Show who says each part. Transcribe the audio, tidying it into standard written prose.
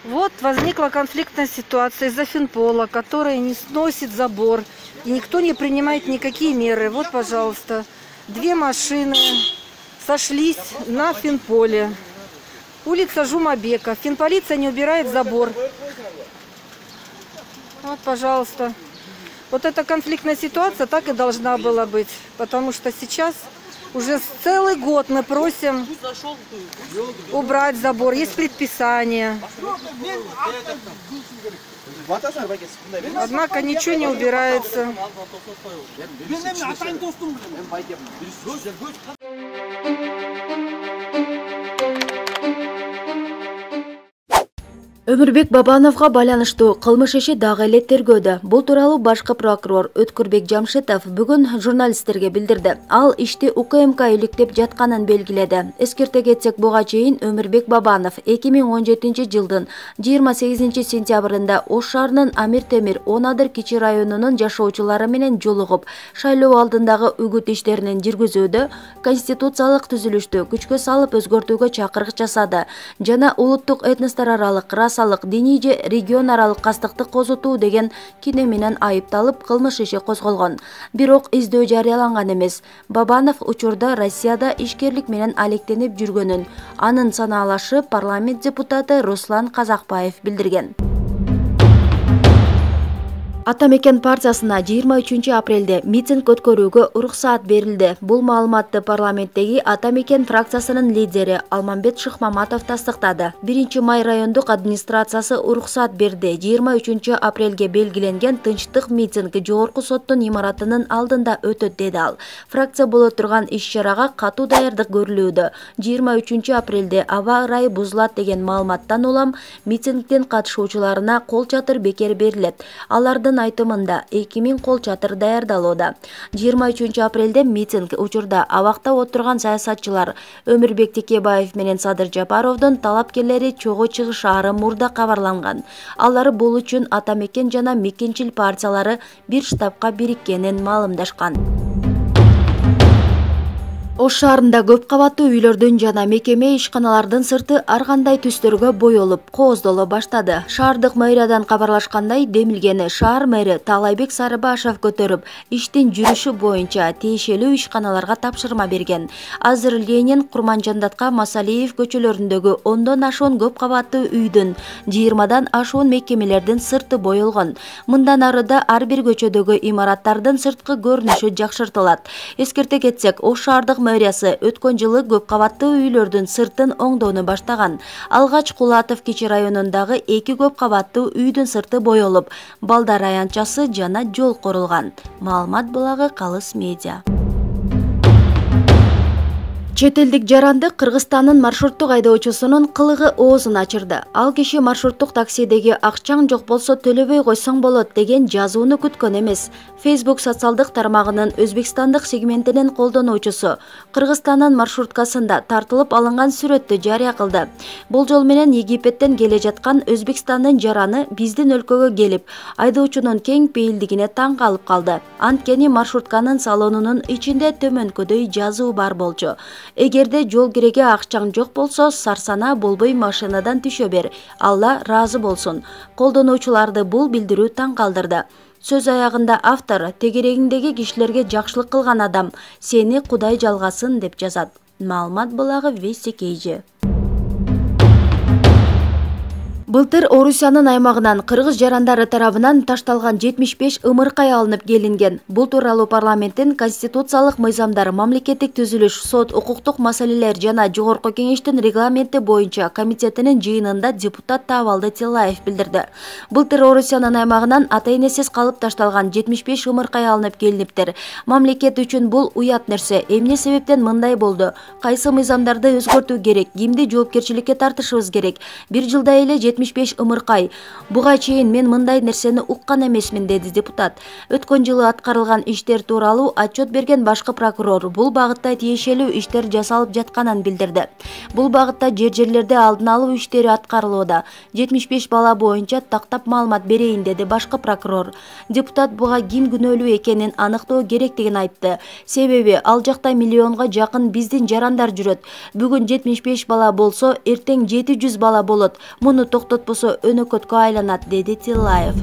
Speaker 1: Вот возникла конфликтная ситуация из-за финпола, который не сносит забор, и никто не принимает никакие меры. Вот, пожалуйста, 2 машины сошлись на финполе. Улица Жумабека. Финполиция не убирает забор. Вот, пожалуйста. Вот эта конфликтная ситуация так и должна была быть, потому что сейчас уже целый год мы просим убрать забор. Есть предписание. Однако ничего не убирается.
Speaker 2: Өмүрбек Бабановго байланыштуу кылмыш иши дагы эле тергөөдө. Бул тууралуу башкы прокурор Өткүрбек Жамшитов бүгүн журналисттерге билдирди. Ал ишти УКМК иликтеп жатканын белгиледи. Эскерте кетсек, буга чейин Өмүрбек Бабанов 2017 жылдын 28 сентябрында Ош шаарынын Амир Темир 10 Адыр кичи районунун жашоочулары менен жолугуп, шайлоо алдындагы үгүт иштерин жүргүзүүдө конституциялык түзүлүштү күчкө салып өзгөртүүгө чакырык жасады жана улуттук этностор аралык диний же регион аралык кастыкты козутуу деген кине менен айыпталып кылмыш иши козголгон. Бирок издөө жарыяланган эмес. Бабанов учурда Россияда ишкерлик менен алектенип жүргөнүн анын санаалашы парламент депутаты Руслан Казакбаев билдирген. Ата мекен партиясына 23 апрелде митинг өткөрүүгө уруксаат берилди. Бул маалыматты парламенттеги Ата мекен фракциясынын лидери Алмамбет Шыкмаматов тастыктады. 1 май райондук администрациясы уруксаат берди. 23 апрелге белгиленген тынчтык митинг жогорку соттун имаратынын алдында өтөт, деди ал. Фракция боло турган иш-чарага катуу даярдык көрүлүүдө. 23 апрелде аба ырайы бузулат деген маалыматтан улам митингдин катышуучуларына кол чатыр бекер берилет. Алардын айтымында 2000 кол чатыр даярдалууда. 23 апрелде митинг учурда абакта отурган саясатчылар Өмүрбек Текебаев менен Садыр Жапаровдун талапкерлери чогуу чыгышаары мурда кабарланган. Алар бул үчүн Ата мекен жана Мекенчил партиялары бир штабка бириккенин маалымдашкан. Ош шаарында көп кабаттуу үйлөрдүн жана мекеме ишканалардын сырты ар кандай түстөргө боелуп, кооздоло баштады. Шаардык мэриядан кабарлашкандай, демилгени шаар мэри Таалайбек Сарыбашев көтөрүп, иштин жүрүшү боюнча тиешелүү ишканаларга тапшырма берген. Азыр Ленин, Курманжандатка, Масалиев көчөлөрүндөгү 10дон ашуун көп кабаттуу үйдүн, 20дан ашуун мекемелердин сырты боелгон. Мындан арыда ар бир көчөдөгү имараттардын сырткы көрүнүшү жакшыртылат. Эскерте кетсек, Ош шаардык мэриясы өткөн жылы көп кабаттуу үйлөрдүн сыртын оңдоону баштаган. Алгач Кулатов кичи районундагы 2 көп кабаттуу үйдүн сырты боелуп, балдар аянтчасы жана жол корулган. Маалымат булагы Калыс медиа. Чет элдик жаранды Кыргызстандын маршруттук айдоочусунун кылыгы оозун ачырды. Ал киши маршруттук таксидеги акчаң жок болсо төлөбөй койсоң болот деген жазууну күткөн эмес. Facebook социалдык тармагынын Өзбекстандык сегментинин колдонуучусу Кыргызстандын маршруткасында тартылып алынган сүрөттү жарыя кылды. Бул жол менен Египеттен келе жаткан Өзбекстандын жараны биздин өлкөгө келип, айдоочунун кең пейилдигине таң калып калды. Анткени маршрутканын салонунун ичинде төмөнкөдөй жазуу бар болчу. Эгерде жол киреге акчаң жок болсо, сарсана болбой машинадан түшө бер. Алла ыраазы болсун. Колдонуучуларды бул билдирүү таң калдырды. Сөз аягында автор тегерегиңдеги кишилерге жакшылык кылган адам, сени Кудай жалгасын деп жазат. Маалымат булагы Вестикейжи. Былтыр Орусиянын аймагынан кыргыз жарандары тарабынан ташталган 75 ымыркай алынып келинген. Бул тууралуу парламенттин конституциялык мыйзамдар, мамлекеттик түзүлүш, сот, укуктук маселелер жана жогорку кеңештин регламенти боюнча комитетинин жыйынында депутат Таабалды Тилаев билдирди. Былтыр Орусиянын аймагынан ата-энесиз калып ташталган 75 ымыркай алынып келиниптир. Мамлекет үчүн бул уят нерсе. Эмне себептен мындай болду? Кайсы мыйзамдарды өзгөртүү керек? Кимди жоопкерчиликке тартышыбыз керек? Бир жылда эле 75 ымыркай. Буга чейин мен мындай нерсени уккан эмесмин, деди депутат. Өткөн жылы аткарылган иштер тууралуу отчет берген башкы прокурор бул багытта тиешелүү иштер жасалып жатканын билдирди. Бул багытта жерлерде алдын алуу иштери аткарылууда. 75 бала боюнча тактап маалымат берейин, деди башкы прокурор. Депутат буга ким күнөөлүү экенин аныктоо керектигин айтты. Себеби ал жакта миллионго жакын биздин жарандар жүрөт. Бүгүн 75 бала болсо, эртең 700 бала болот. Муну токтотпосо өнөкөткө айланат, деди Тиллаев.